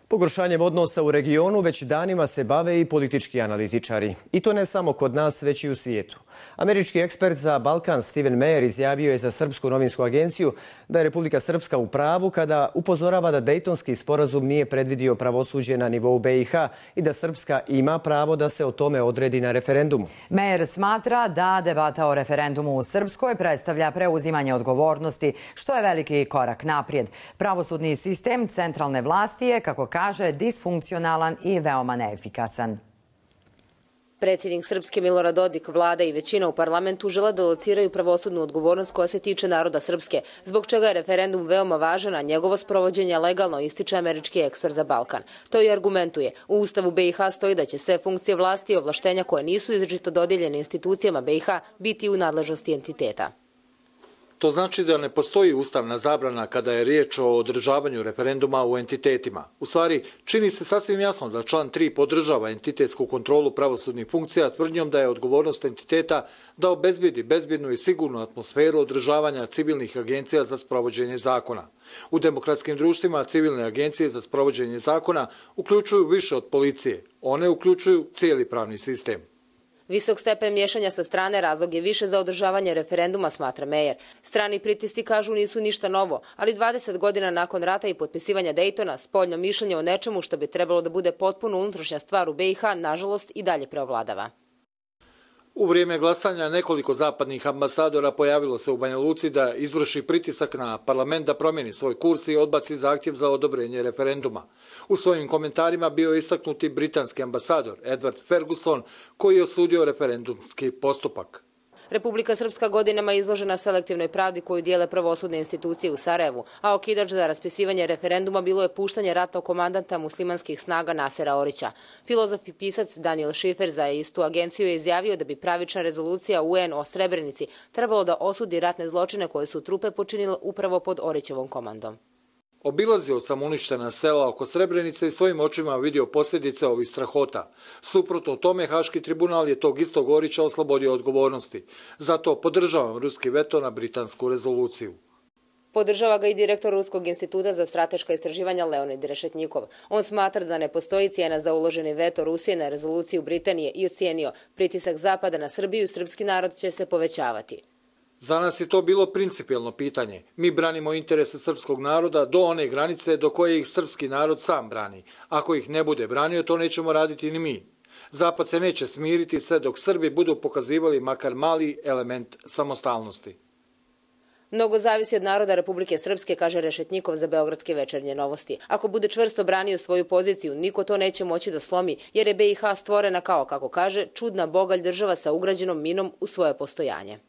Pogoršanjem odnosa u regionu već danima se bave i politički analitičari. I to ne samo kod nas, već i u svijetu. Američki ekspert za Balkan Stephen Meyer izjavio je za Srpsku novinsku agenciju da je Republika Srpska u pravu kada upozorava da Dejtonski sporazum nije predvidio pravosuđe na nivou BiH i da Srpska ima pravo da se o tome odredi na referendumu. Meyer smatra da debata o referendumu u Srpskoj predstavlja preuzimanje odgovornosti, što je veliki korak naprijed. Pravosudni sistem centralne vlasti je, kako kaže, disfunkcionalan i veoma neefikasan. Predsjednik Srpske Milorad Dodik, vlada i većina u parlamentu žele da lociraju pravosudnu odgovornost koja se tiče naroda Srpske, zbog čega je referendum veoma važan, a njegovo sprovođenje legalno, ističe američki ekspert za Balkan. To i argumentuje. U Ustavu BiH stoji da će sve funkcije vlasti i ovlaštenja koje nisu izričito dodijeljene institucijama BiH biti u nadležnosti entiteta. To znači da ne postoji ustavna zabrana kada je riječ o održavanju referenduma u entitetima. U stvari, čini se sasvim jasno da član 3 podržava entitetsku kontrolu pravosudnih funkcija tvrdnjom da je odgovornost entiteta da obezbedi bezbjednu i sigurnu atmosferu održavanja civilnih agencija za sprovođenje zakona. U demokratskim društvima civilne agencije za sprovođenje zakona uključuju više od policije. One uključuju cijeli pravni sistem. Visok stepen miješanja sa strane razlog je više za održavanje referenduma, smatra Meyer. Strani pritisci, kažu, nisu ništa novo, ali 20 godina nakon rata i potpisivanja Dejtona, spoljno mišljenje o nečemu što bi trebalo da bude potpuno unutrašnja stvar u BiH, nažalost, i dalje preovladava. U vrijeme glasanja nekoliko zapadnih ambasadora pojavilo se u Banja Luci da izvrši pritisak na parlament da promijeni svoj kurs i odbaci zahtjev za odobrenje referenduma. U svojim komentarima bio je istaknuti britanski ambasador Edward Ferguson, koji je osudio referendumski postupak. Republika Srpska godinama je izložena selektivnoj pravdi koju dijele pravosudne institucije u Sarajevu, a okidač za raspisivanje referenduma bilo je puštanje ratnog komandanta muslimanskih snaga Nasera Orića. Filozof i pisac Daniel Schiffer za istu agenciju je izjavio da bi pravična rezolucija UN o Srebrenici trebalo da osudi ratne zločine koje su trupe počinile upravo pod Orićevom komandom. Obilazio sam uništena sela oko Srebrenice i svojim očima vidio posljedice ovih strahota. Suprotno tome, Haški tribunal je tog istog Orića oslobodio odgovornosti. Zato podržavam ruski veto na britansku rezoluciju. Podržava ga i direktor Ruskog instituta za strateška istraživanja Leonid Rešetnjikov. On smatra da ne postoji cijena za uloženi veto Rusije na rezoluciju Britanije i ocijenio pritisak Zapada na Srbiju i srpski narod će se povećavati. Za nas je to bilo principijelno pitanje. Mi branimo interese srpskog naroda do one granice do koje ih srpski narod sam brani. Ako ih ne bude branio, to nećemo raditi ni mi. Zapad se neće smiriti sve dok Srbi budu pokazivali makar mali element samostalnosti. Mnogo zavisi od naroda Republike Srpske, kaže Rešetnjikov za Beogradske večernje novosti. Ako bude čvrsto branio svoju poziciju, niko to neće moći da slomi, jer je BiH stvorena kao, kako kaže, čudna bogalj država sa ugrađenom minom u svoje postojanje.